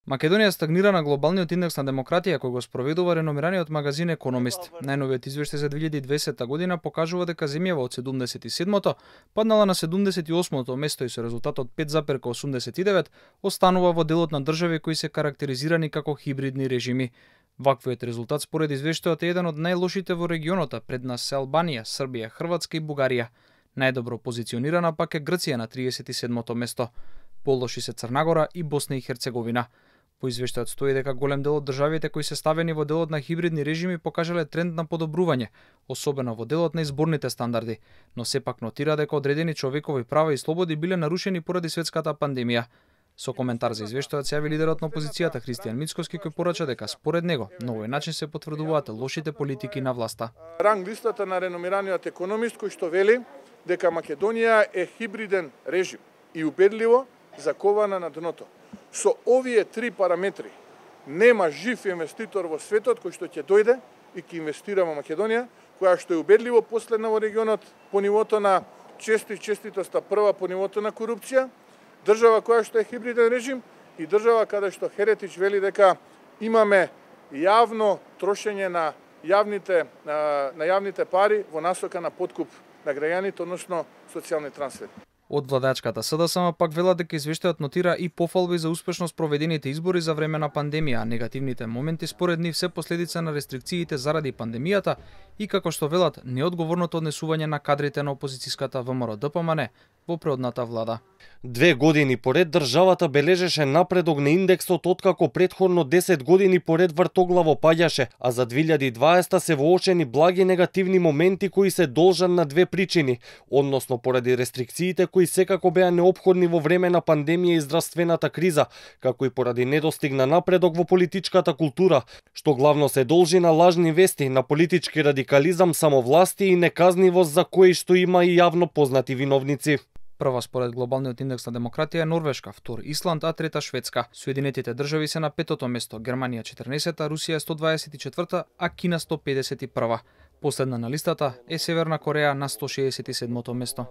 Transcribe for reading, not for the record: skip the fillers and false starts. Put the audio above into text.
Македонија стагнира на глобалниот индекс на демократија кој го спроведува реномираниот магазин Економист. Најновиот извештај за 2020 година покажува дека земјава од 77-то паднала на 78-то место и со резултатот 5,89 останува во делот на држави кои се карактеризирани како хибридни режими. Ваквиот резултат според извештајот е еден од најлошите во регионот, пред нас се Албанија, Србија, Хрватска и Бугарија. Најдобро позиционирана пак е Грција на 37-то место. Полоши се Црна Гора и Босна и Херцеговина. По извештајот стои дека голем дел од државите кои се ставени во делот на хибридни режими покажале тренд на подобрување, особено во делот на изборните стандарди, но сепак нотира дека одредени човекови права и слободи биле нарушени поради светската пандемија. Со коментар за извештајот се јави лидерот на опозицијата Христијан Мицкоски кој порача дека според него на овој начин се потврдуваат лошите политики на власта. Ранг листата на реномираниот економист кој што вели дека Македонија е хибриден режим и убедливо закована на дното. Со овие три параметри нема жив инвеститор во светот кој што ќе дојде и ќе инвестира во Македонија, која што е убедливо последна во регионот по нивото на честитоста, прва по нивото на корупција, држава која што е хибриден режим и држава каде што Херетич вели дека имаме јавно трошење на јавните пари во насока на подкуп на граѓаните, односно социјални трансфери. Од владачката СДСМ пак велат дека извештајот нотира и пофалби за успешно спроведените избори за време на пандемија, а негативните моменти според нив се последица на рестрикциите заради пандемијата и како што велат неодговорното однесување на кадрите на опозицијската ВМРО-ДПМН во предходната влада. 2 години поред државата бележеше напредок на индексот откако претходно 10 години поред вртоглаво паѓаше, а за 2020 се воочени благи негативни моменти кои се должат на две причини, односно поради рестрикциите кои секако беа неопходни во време на пандемија и здравствената криза, како и поради недостиг на напредок во политичката култура, што главно се должи на лажни вести, на политички радикализам, самовласти и неказнивост за кои што има и јавно познати виновници. Прва според глобалниот индекс на демократија е Норвешка, втор Исланд, а трета Шведска. Соединетите држави се на 5-то место, Германија 14-та, Русија 124-та, а Кина 151-та. Последна на листата е Северна Кореја на 167-то место.